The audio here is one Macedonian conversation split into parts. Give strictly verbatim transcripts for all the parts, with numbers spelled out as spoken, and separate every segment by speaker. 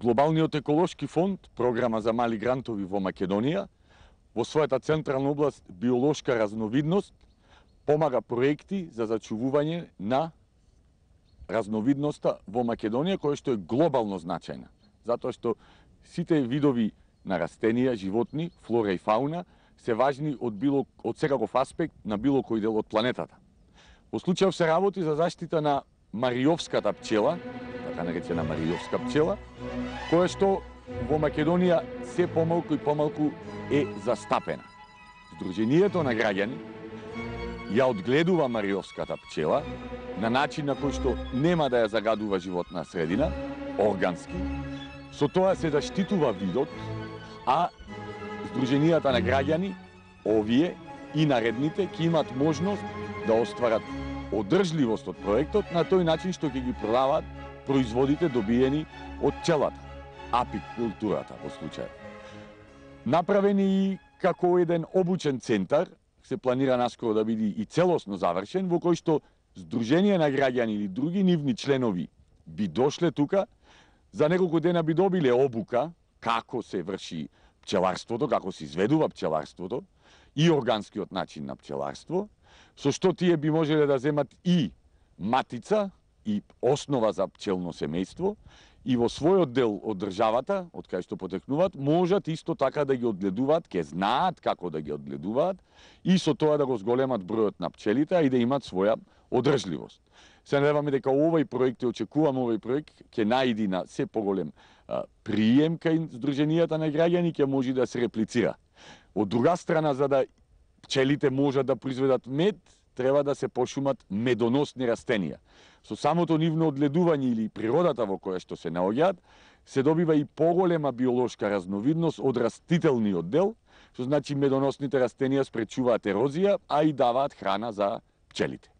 Speaker 1: Глобалниот еколошки фонд, програма за мали грантови во Македонија, во својата централна област биолошка разновидност, помага проекти за зачувување на разновидноста во Македонија, која што е глобално значајна. Затоа што сите видови на растенија, животни, флора и фауна се важни од било од секаков аспект на било кој дел од планетата. Во случајов се работи за заштита на мариовската пчела, така наречена мариовска пчела, која што во Македонија се помалку и помалку е застапена. Сдруженијето на граѓани ја одгледува мариовската пчела на начин на кој што нема да ја загадува животна средина, органски. Со тоа се заштитува видот, а сдруженијата на граѓани, овие и наредните, ќе имат можност да остварат одржливост од проектот на тој начин што ќе ги продаваат производите добиени од пчелата, апикултурата во случај. Направени и како еден обучен центар, се планира наскоро да биде и целосно завршен, во кој што Сдружение на граѓани или други нивни членови би дошле тука, за неколку дена би добиле обука како се врши пчеларството, како се изведува пчеларството и органскиот начин на пчеларство, со што тие би можеле да земат и матица, и основа за пчелно семејство, и во својот дел од државата, од кај што потекнуваат, можат исто така да ги одгледуваат, ке знаат како да ги одгледуваат, и со тоа да го зголемат бројот на пчелите, и да имат своја одржливост. Се надеваме дека овој проект, и очекуваме овој проект, ќе најди на се поголем а, прием кај Сдруженијата на граѓани, ќе може да се реплицира. Од друга страна, за да пчелите можат да произведат мед, треба да се пошумат медоносни растенија. Со самото нивно одгледување или природата во која што се наоѓаат, се добива и поголема биолошка разновидност од растителниот дел, што значи медоносните растенија спречуваат ерозија, а и даваат храна за пчелите.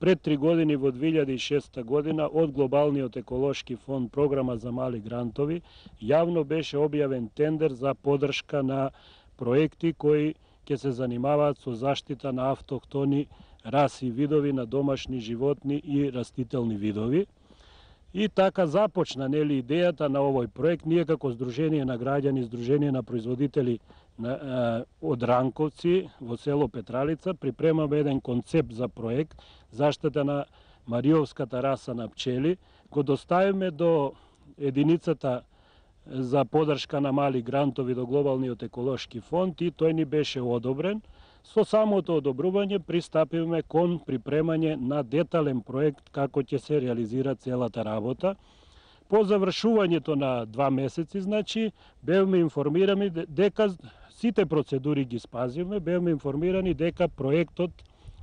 Speaker 2: Пред три години во две илјади и шеста година од Глобалниот еколошки фонд програма за мали грантови јавно беше објавен тендер за поддршка на проекти кои ќе се занимаваат со заштита на автохтони раси и видови на домашни животни и растителни видови. И така започна нели идејата на овој проект. Ние како Сдружение на граѓани, Сдружение на производители на, а, од Ранковци во село Петралица припремаме еден концепт за проект заштита на мариовската раса на пчели, го доставиме до единицата за поддршка на мали грантови до Глобалниот еколошки фонд и тој ни беше одобрен. Со самото одобрување пристапивме кон припремање на детален проект како ќе се реализира целата работа. По завршувањето на два месеци, значи, бевме информирани дека сите процедури ги спазивме, бевме информирани дека проектот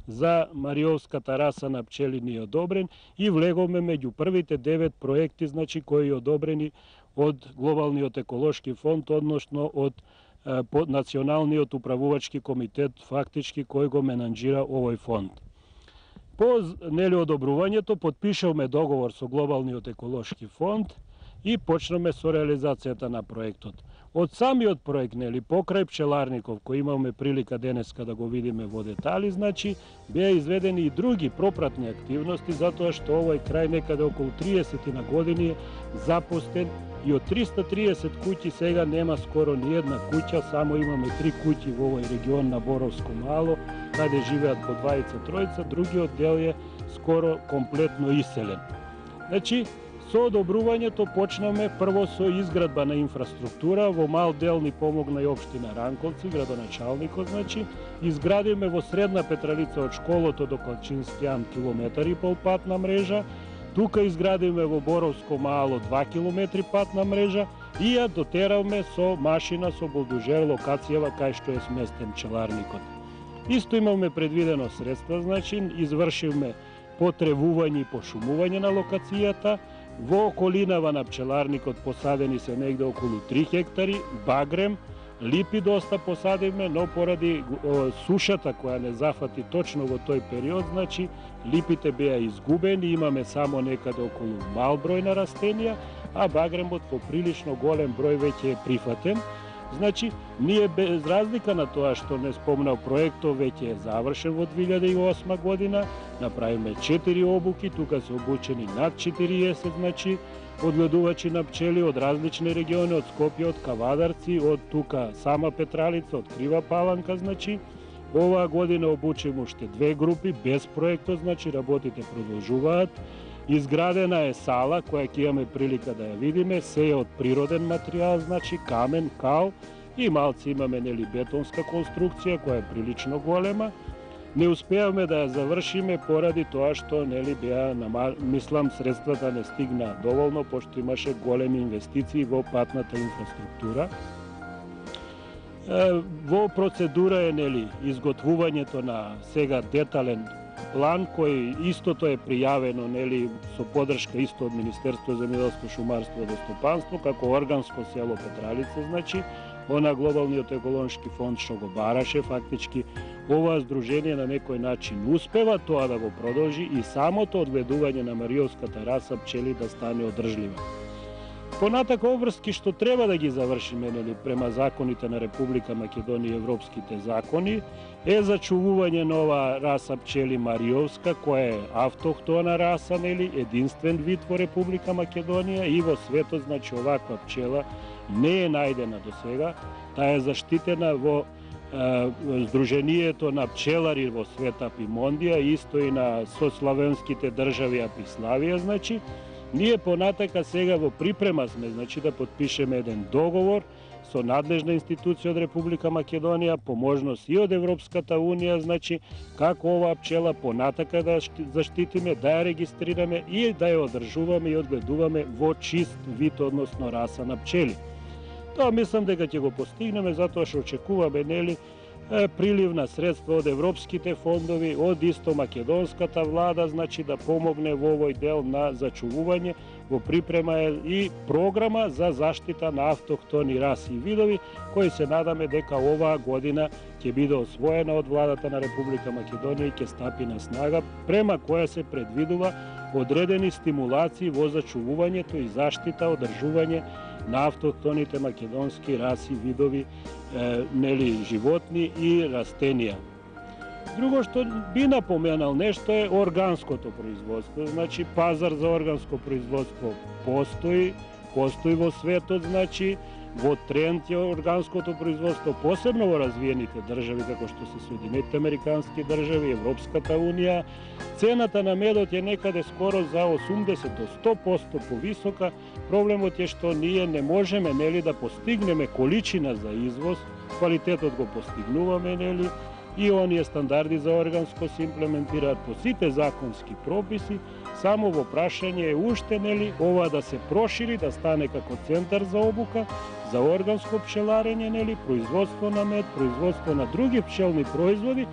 Speaker 2: за мариовската раса на пчели ни е одобрен и влеговме меѓу првите девет проекти, значи, кои одобрени од Глобалниот еколошки фонд, односно од под Националниот управувачки комитет, фактички кој го менаџира овој фонд. По нели одобрувањето подпишавме договор со Глобалниот еколошки фонд и почнаме со реализацијата на проектот. Од самиот проект, нели, покрај пчеларников, кој имаме прилика денеска да го видиме во детали, значи, беа изведени и други пропратни активности, затоа што овој крај некаде околу триесет на години е запустен и од триста триесет куќи сега нема скоро ни една куќа, само имаме три куќи во овој регион на Боровско мало, каде живеат по двајца тројца, другиот дел е скоро комплетно иселен. Значи, со одобрувањето почнаме прво со изградба на инфраструктура, во мал дел ни помогна и општина Ранковци, градоначалникот, значи, изградиме во Средна Петралица од школото до Калчинскијан километар и пол патна мрежа, тука изградиме во Боровско мало два километри патна мрежа и ја дотеравме со машина со булдожер локацијава кај што е сместен пчеларникот. Исто имаме предвидено средства, значи, извршивме потревување и пошумување на локацијата. Во околинава на пчеларникот посадени се негде околу три хектари, багрем, липи доста посадиме, но поради о, сушата која не зафати точно во тој период, значи липите беа изгубени, имаме само некаде околу мал број на растенија, а багремот по прилично голем број веќе е прифатен. Значи, ние без разлика на тоа што не спомнав проектот, веќе е завршен во две илјади и осма година, направиме четири обуки, тука се обучени над четириесет, значи, одгледувачи на пчели од различни региони, од Скопје, од Кавадарци, од тука сама Петралица, од Крива Паланка, значи. Оваа година обучиме уште две групи, без проектот, значи, работите продолжуваат. Изградена е сала која ќе имаме прилика да ја видиме, се е од природен материјал, значи камен, кал и малци имаме нели бетонска конструкција која е прилично голема. Не успеавме да ја завршиме поради тоа што нели беа, мислам, средствата не стигна доволно, пошто имаше големи инвестиции во патната инфраструктура. Во процедура е нели изготвувањето на сега детален план кој истото е пријавено нели со поддршка исто од Министерство за земјоделско шумарство и водостопанство како органско село Петралица, значи она Глобалниот еколошки фонд што го бараше, фактички ова здружение на некој начин успева тоа да го продолжи и самото одгледување на мариовската раса пчели да стане одржлива. Понатака обврски што треба да ги завршиме нели према законите на Република Македонија и европските закони е зачувување на оваа раса пчели мариовска која е автохтона раса, нели единствен вид во Република Македонија и во светот, значи оваква пчела не е најдена до сега, таа е заштитена во е, Сдруженијето на пчелари во свет Апимондија, исто и на сославенските држави Апиславија, значи. Ние понатака сега во припрема сме, значи да подпишеме еден договор со надлежна институција од Република Македонија, по можност и од Европската унија, значи како оваа пчела понатака да заштитиме, да ја регистрираме и да ја одржуваме и одгледуваме во чист вид, односно раса на пчели. Тоа мислам дека ќе го постигнеме затоа што очекуваме нели прилив на средства од европските фондови, од исто македонската влада, значи да помогне во овој дел на зачувување, во припрема е и програма за заштита на автохтони раси и видови, кои се надаме дека оваа година ќе биде освоена од владата на Република Македонија и ќе стапи на снага, према која се предвидува одредени стимулации во зачувувањето и заштита, одржување на автохтоните македонски раси, видови, е, нели, животни и растенија. Друго што би напоменал нешто е органското производство. Значи, пазар за органско производство постои, постои во светот, значи, во тренд е органското производство, посебно во развиените држави, како што се Соединетите американски држави, Европската унија. Цената на медот е некаде скоро за осумдесет до сто проценти повисока. Проблемот е што ние не можеме, нели, да постигнеме количина за извоз, квалитетот го постигнуваме, нели, и оние стандарди за органско се имплементираат по сите законски прописи, само во прашање е уште, нели, ова да се прошири, да стане како центар за обука, за органско пчеларење, нели, производство на мед, производство на други пчелни производи,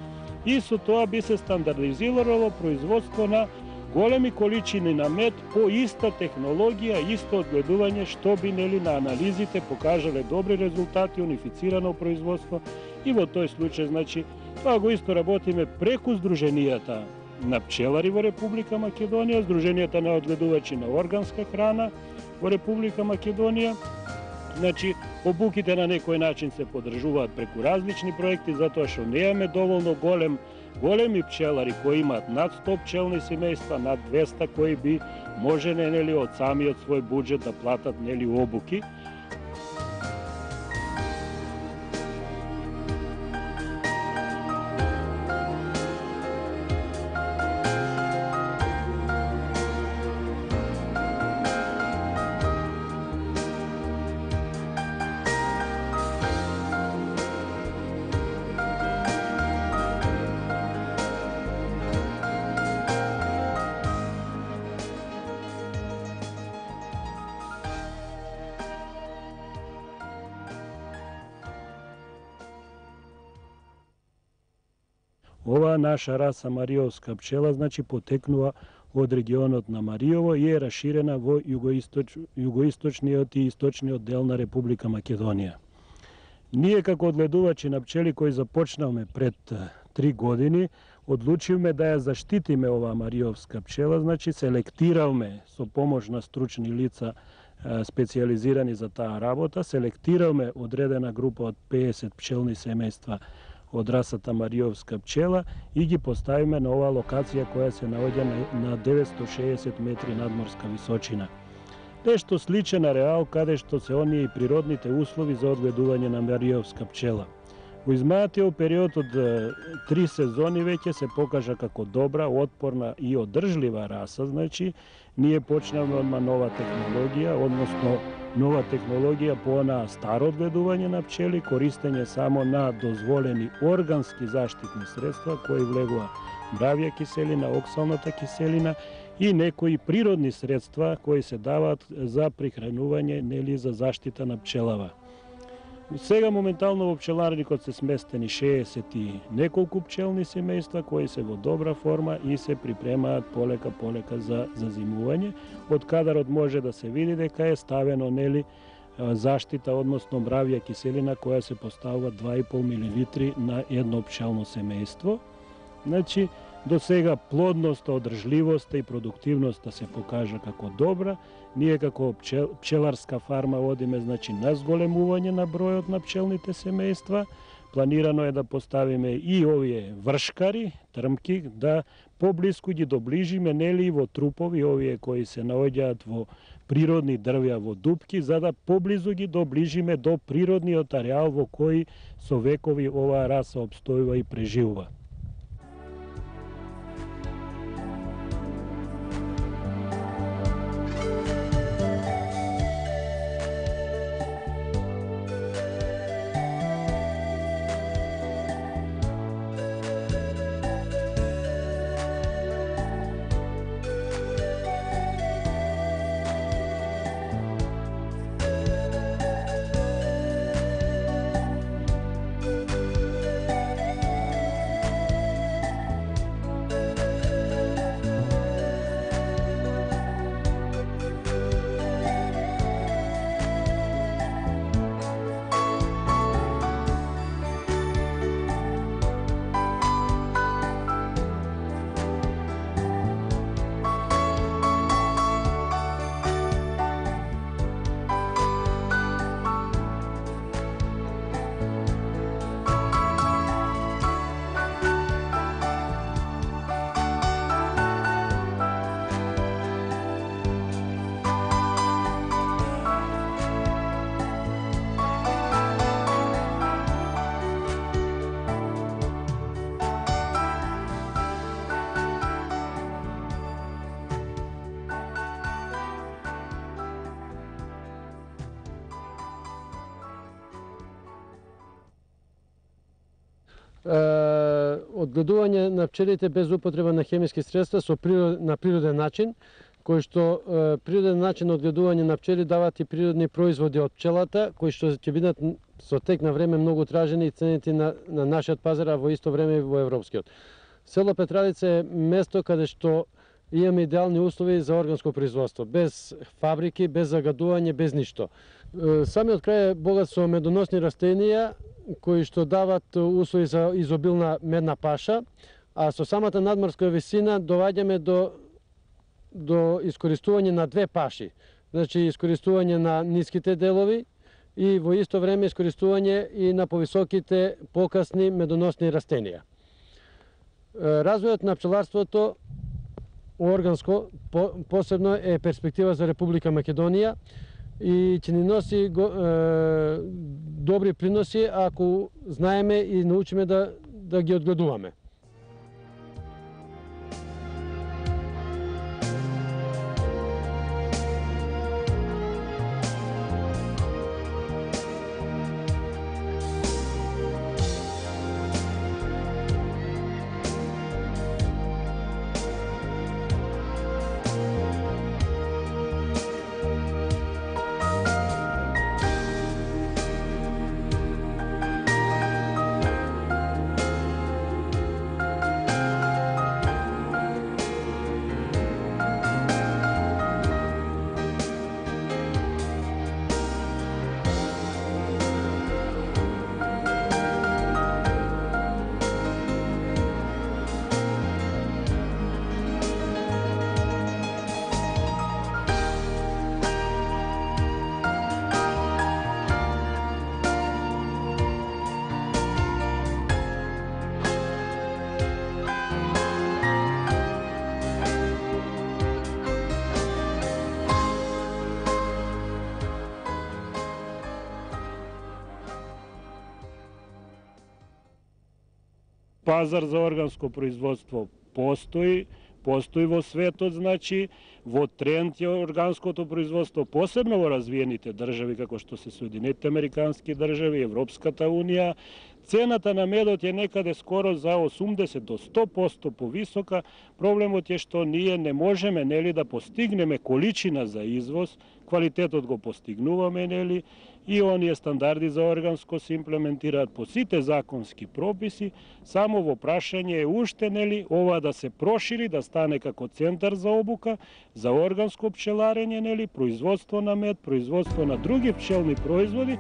Speaker 2: и со тоа би се стандардизирало производство на големи количини на мед по иста технологија, исто одгледување, што би, нели, на анализите покажале добри резултати, унифицирано производство, и во тој случај, значи, тоа го исто работиме преку Сдруженијата на пчелари во Република Македонија, Сдруженијата на одгледувачи на органска храна во Република Македонија. Значи, обуките на некој начин се поддржуваат преку различни проекти, затоа што немаме доволно голем големи пчелари кои имаат над сто пчелни семејства, над двеста кои би можеле, нели, од самиот свој буџет да платат, нели, обуки. Оваа наша раса мариовска пчела, значи, потекнува од регионот на Мариово и е раширена во југоисточ, југоисточниот и источниот дел на Република Македонија. Ние како одгледувачи на пчели кои започнавме пред три години, одлучивме да ја заштитиме оваа мариовска пчела, значи селектиравме со помош на стручни лица специјализирани за таа работа, селектиравме одредена група од пеесет пчелни семејства од расата мариовска пчела и ги поставиме на оваа локација која се наоѓа на деветсто шеесет метри надморска височина. Нешто сличен ареал каде што се оние и природните услови за одгледување на мариовска пчела. Во изминатиот период од три сезони веќе се покажа како добра, отпорна и одржлива раса, значи ние почнавме одма нова технологија, односно нова технологија по онаа старо одгледување на пчели, користење само на дозволени органски заштитни средства кои влегува мравја киселина, оксалната киселина и некои природни средства кои се даваат за прихранување, нели, за заштита на пчелава. Сега моментално во пчеларникот се сместени шеесет и неколку пчелни семејства кои се во добра форма и се припремаат полека полека за зазимување. Од кадарот може да се види дека е ставено, нели, заштита, односно мравја киселина која се поставува два и пол милилитри на едно пчелно семејство. Значи, до сега плодноста, одржливоста и продуктивноста се покажа како добра. Ние како пчел, пчеларска фарма водиме, значи, на зголемување на бројот на пчелните семејства. Планирано е да поставиме и овие вршкари, трмки, да поблиску ги доближиме, нели, во трупови, овие кои се наоѓаат во природни дрвја, во дупки, за да поблизу ги доближиме до природниот ареал во кој со векови оваа раса обстојува и преживува.
Speaker 3: одгледување на пчелите без употреба на хемиски средства со природ, на природен начин, кој што е, природен начин на одгледување на пчели дават и природни производи од пчелата, кои што ќе бидат со тек на време многу тражени и ценети на, на нашиот пазар, а во исто време и во европскиот. Село Петравица е место каде што имаме идеални услови за органско производство, без фабрики, без загадување, без ништо. Самиот крај е богат со медоносни растенија, кои што дават услови за изобилна медна паша, а со самата надморска висина доваѓаме до, до искористување на две паши. Значи, искористување на ниските делови и во исто време искористување и на повисоките покасни медоносни растенија. Развојот на пчеларството органско посебно е перспектива за Република Македонија и ќе ни носи го, е, добри приноси ако знаеме и научиме да, да ги одгледуваме.
Speaker 2: Пазар за органско производство постои, постои во светот, значи, во тренд е органското производство, посебно во развиените држави, како што се Соединетите американски држави, Европската унија. Цената на медот е некаде скоро за осумдесет до сто проценти повисока. Проблемот е што ние не можеме, нели, да постигнеме количина за извоз, квалитетот го постигнуваме, нели, и оние стандарди за органско се имплементираат по сите законски прописи, само во прашање е уште, нели, ова да се прошири, да стане како центар за обука, за органско пчеларење, нели, производство на мед, производство на други пчелни производи,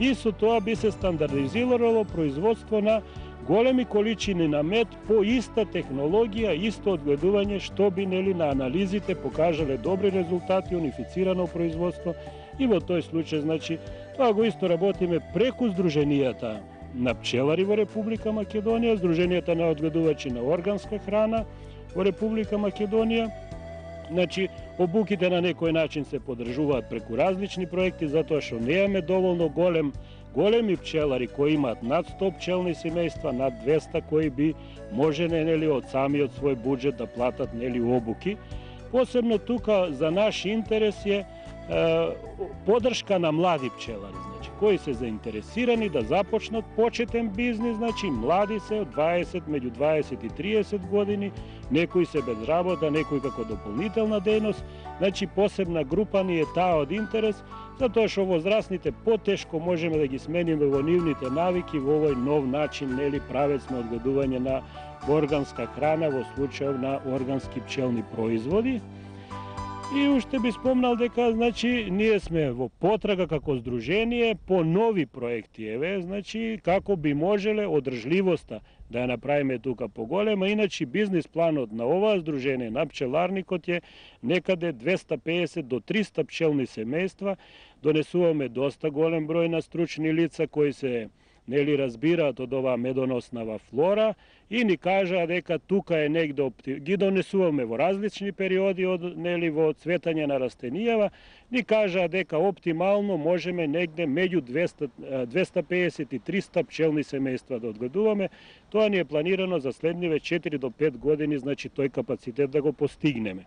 Speaker 2: и со тоа би се стандардизирало производство на големи количини на мед по иста технологија, исто одгледување, што би, нели, на анализите покажале добри резултати, унифицирано производство, и во тој случај, значи, тоа го исто работиме преку Сдруженијата на пчелари во Република Македонија, Сдруженијата на одгледувачи на органска храна во Република Македонија. Значи, обуките на некој начин се подржуваат преку различни проекти, затоа што немаме доволно голем, големи пчелари кои имаат над сто пчелни семејства, над двеста кои би можеле, нели, од самиот свој буџет да платат, нели, обуки. Посебно тука за наш интерес е подршка на млади пчелари, значи, кои се заинтересирани да започнат почетен бизнис, значи, млади се од дваесет, меѓу дваесет и триесет години, некои се без работа, некои како дополнителна дејност, значи, посебна група ни е таа од интерес, затоа што возрастните потешко можеме да ги смениме во нивните навики во овој нов начин, нели, правец на одгледување на органска храна, во случај на органски пчелни производи. И уште би спомнал дека, значи, ние сме во потрага како здружение по нови проекти, еве, значи, како би можеле одржливоста да ја направиме тука поголема, иначе бизнис планот на оваа здружение, на пчеларникот е некаде двеста песет до триста пчелни семејства, донесуваме доста голем број на стручни лица кои се, нели, разбираат од оваа медоноснава флора и ни кажаа дека тука е негде, ги донесуваме во различни периоди од, нели, во цветање на растенијава, ни кажаа дека оптимално можеме негде меѓу двеста песет и триста пчелни семејства да одгледуваме. Тоа ни е планирано за следниве четири до пет години, значи тој капацитет да го постигнеме.